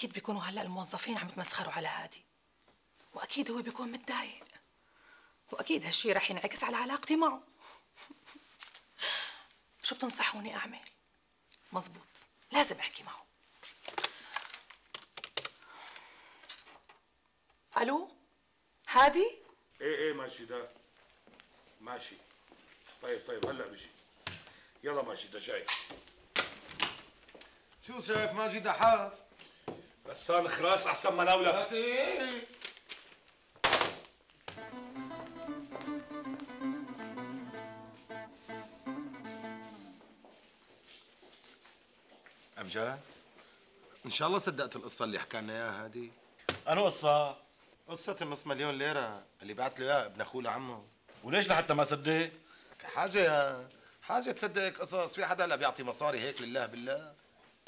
اكيد بيكونوا هلا الموظفين عم يتمسخروا على هادي، واكيد هو بيكون متضايق، واكيد هالشي رح ينعكس على علاقتي معه. شو بتنصحوني اعمل؟ مزبوط، لازم احكي معه. الو هادي؟ ايه ماشي ده ماشي. طيب هلا بيجي. يلا ماشي ده جاي. شو شايف ماجد حاف؟ غسان خراس احسن مناولة. هاتي أمجاد، إن شاء الله صدقت القصة اللي حكى لنا إياها هادي. أنا قصة؟ قصة النص مليون ليرة اللي بعت له إياها ابن أخوه لعمه. وليش لحتى ما صدق؟ حاجة تصدق قصص، في حدا هلا بيعطي مصاري هيك لله بالله؟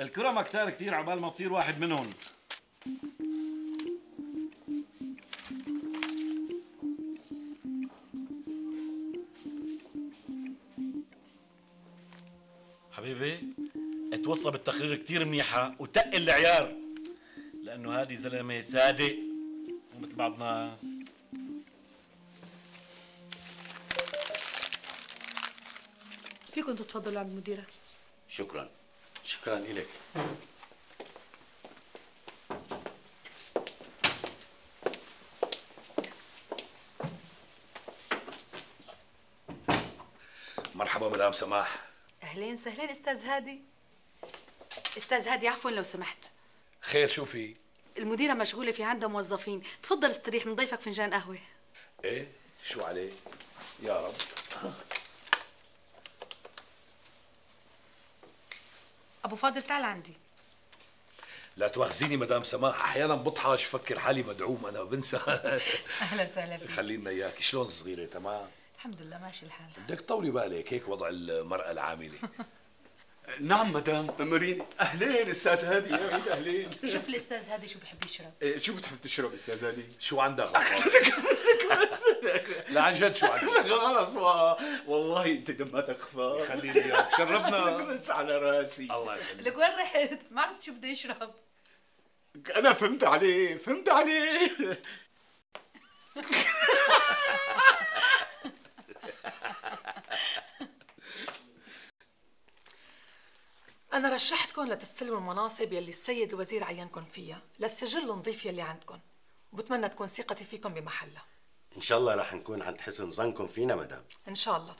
الكرمة كتير عبال ما تصير واحد منهم. حبيبي اتوصى بالتقرير كتير منيحة وتقل العيار، لأنه هادي زلمة صادق مو مثل بعض الناس. فيكم تتفضلوا عند المديرة. شكرا إلك. مرحبا مدام سماح. أهلين وسهلين أستاذ هادي. أستاذ هادي عفوا لو سمحت. خير شو في؟ المديرة مشغولة، في عندها موظفين، تفضل استريح، من ضيفك فنجان قهوة. ايه شو عليه؟ يا رب. أبو فاضل تعال عندي. لا تواخذيني مدام سماح، احيانا بطحش فكر حالي مدعوم انا بنسى. أهلا وسهلا فيك. خلينا اياك. شلون صغيره؟ تمام الحمد لله ماشي الحال. بدك تطولي بالك، هيك وضع المرأة العاملة. نعم مدام مارين. اهلين استاذ هادي. يا عيد اهلين. شوف الأستاذ هادي شو بحب يشرب. شو بتحب تشرب استاذ هادي؟ شو عندك غفار؟ لا عن جد شو عندك؟ خلص والله انت دماتك خفاف. خليني اياك شربنا. بس على راسي. الله يخليك. لك وين رحت؟ ما عرفت شو بده يشرب. انا فهمت عليه. أنا رشحتكم لتستلموا المناصب يلي السيد الوزير عينكم فيها للسجل النظيف يلي عندكم، وبتمنى تكون ثقتي فيكم بمحلها. إن شاء الله رح نكون عند حسن ظنكم فينا مدام. إن شاء الله.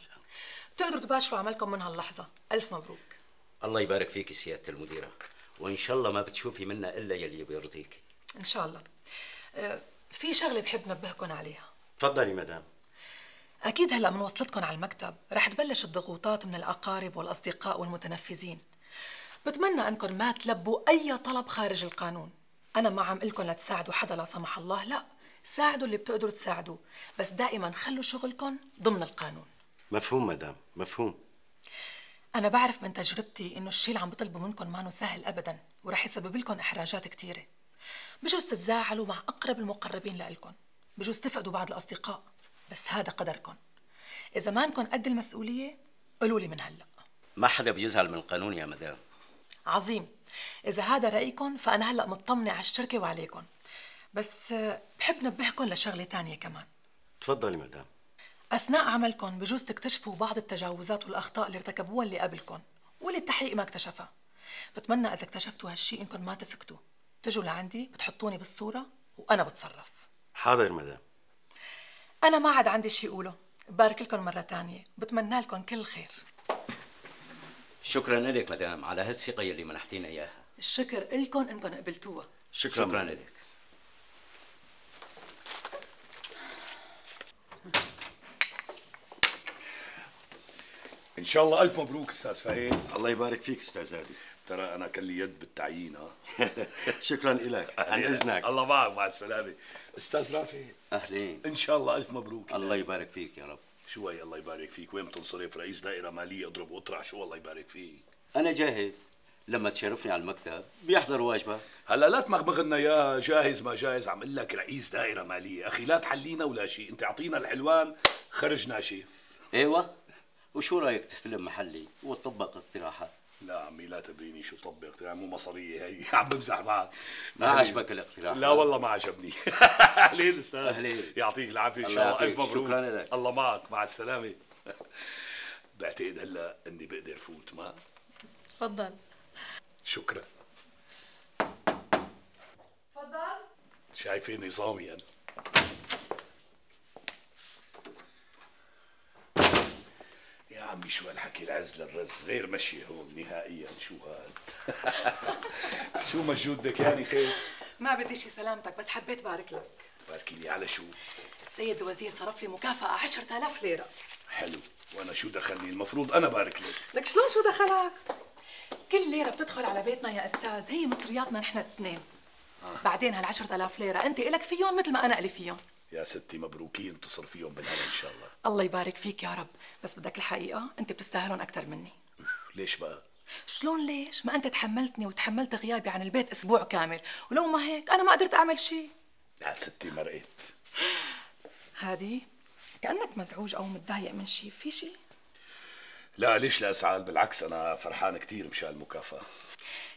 بتقدروا تباشروا عملكم من هاللحظة. ألف مبروك. الله يبارك فيك سيادة المديرة، وإن شاء الله ما بتشوفي منا إلا يلي بيرضيك. إن شاء الله. في شغلة بحب نبهكم عليها. تفضلي مدام. أكيد هلأ من وصلتكم على المكتب رح تبلش الضغوطات من الأقارب والأصدقاء والمتنفذين. بتمنى أنكم ما تلبوا أي طلب خارج القانون. أنا ما عم قلكم لا تساعدوا حدا لا سمح الله، لا، ساعدوا اللي بتقدروا تساعدوه، بس دائما خلوا شغلكم ضمن القانون. مفهوم مدام، مفهوم. أنا بعرف من تجربتي إنه الشيء اللي عم بطلبوا منكم مانو سهل أبدا، ورح يسبب لكم إحراجات كثيرة. بجوز تتزاعلوا مع أقرب المقربين لإلكم، بجوز تفقدوا بعض الأصدقاء، بس هذا قدركم. إذا ما انكم قد المسؤولية قولوا لي من هلا. ما حدا بيزعل من القانون يا مدام. عظيم. إذا هذا رأيكم فأنا هلا مطمنة على الشركة وعليكم، بس بحب نبهكم لشغلة تانية كمان. تفضلي مدام. أثناء عملكم بجوز تكتشفوا بعض التجاوزات والأخطاء اللي ارتكبوها اللي قبلكم واللي التحقيق ما اكتشفها. بتمنى إذا اكتشفتوا هالشيء إنكم ما تسكتوا، تجوا لعندي بتحطوني بالصورة وأنا بتصرف. حاضر مدام. أنا ما عاد عندي شيء أقوله. بارك لكم مرة تانية، بتمنى لكم كل خير. شكرا لك مدام على هالثقة يلي منحتينا إياها. الشكر إلكم إنكم قبلتوها. شكرا لك. ان شاء الله الف مبروك استاذ فايز. الله يبارك فيك استاذ هادي. ترى انا كان لي يد بالتعيين. ها شكرا لك. عن اذنك. الله معك، مع السلامه. استاذ رافع اهلين. ان شاء الله الف مبروك. الله يبارك فيك يا رب. شو هي الله يبارك فيك؟ وين بتنصرف؟ رئيس دائره ماليه اضرب واطرح. شو الله يبارك فيك؟ انا جاهز، لما تشرفني على المكتب بيحضر واجبك. هلا لا تمغمغ لنا يا جاهز ما جاهز. عم اقول لك رئيس دائره ماليه اخي، لا تحلينا ولا شيء. انت اعطينا الحلوان خرج ناشف. ايوه، وشو رايك تستلم محلي وتطبق اقتراحات؟ لا عمي لا تبريني شو طبق يعني مو مصرية هي عم بمزح معك. ما عجبك الاقتراح؟ لا والله ما عجبني. اهلين استاذ. أهلين. يعطيك العافية ان الله شاء الله. يعافيك. الف مبروك. شكراً لك. الله معك مع السلامة. بعتقد هلا اني بقدر فوت ما؟ تفضل. شكرا. تفضل. شايفة نظامي انا. يا عمي شو هالحكي العز للرز غير مشي هون نهائيا. شو هاد؟ شو مجهود دكاني خير؟ ما بدي شي سلامتك، بس حبيت بارك لك. تباركي لي على شو؟ السيد الوزير صرف لي مكافأة 10,000 ليرة. حلو، وانا شو دخلني؟ المفروض انا بارك لك. لك شلون شو دخلك؟ كل ليرة بتدخل على بيتنا يا أستاذ هي مصرياتنا نحن الاثنين. بعدين هال10,000 ليرة أنت إلك فيهم مثل ما أنا إلي فيهم. يا ستي مبروكين، تصرفيهم بالهنا ان شاء الله. الله يبارك فيك يا رب، بس بدك الحقيقة أنت بتستاهلهم أكثر مني. ليش بقى؟ شلون ليش؟ ما أنت تحملتني وتحملت غيابي عن البيت أسبوع كامل، ولو ما هيك أنا ما قدرت أعمل شيء. يا ستي مرقت. هادي كأنك مزعوج أو متضايق من شيء، في شيء؟ لا ليش لا أزعل، بالعكس أنا فرحان كثير مشان المكافأة.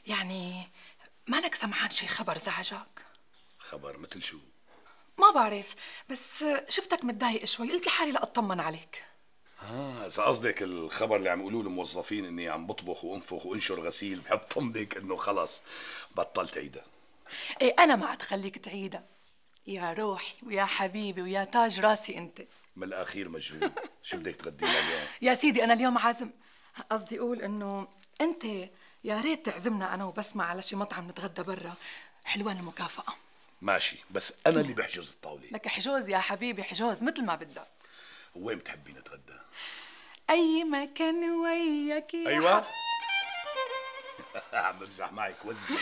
يعني مانك سمعان شي خبر زعجك؟ خبر مثل شو؟ ما بعرف، بس شفتك متضايق شوي، قلت لحالي لا أطمن عليك. إذا قصدك الخبر اللي عم يقولوه الموظفين إني عم بطبخ وأنفخ وأنشر غسيل، بحب طمنك إنه خلص بطلت عيدها. إيه أنا ما تخليك تعيدها يا روحي ويا حبيبي ويا تاج راسي أنت. من الأخير مجهود. شو بدك تغدينا اليوم؟ يا سيدي أنا اليوم عازم، قصدي أقول إنه أنت يا ريت تعزمنا أنا وبسمة على شي مطعم نتغدى برا، حلوان المكافأة. ماشي، بس أنا اللي بحجز الطاولة. لك حجوز يا حبيبي، حجوز مثل ما بدك. وين بتحبي نتغدى؟ أي مكان وياك يا أيوة. عم بمزح معك وزني.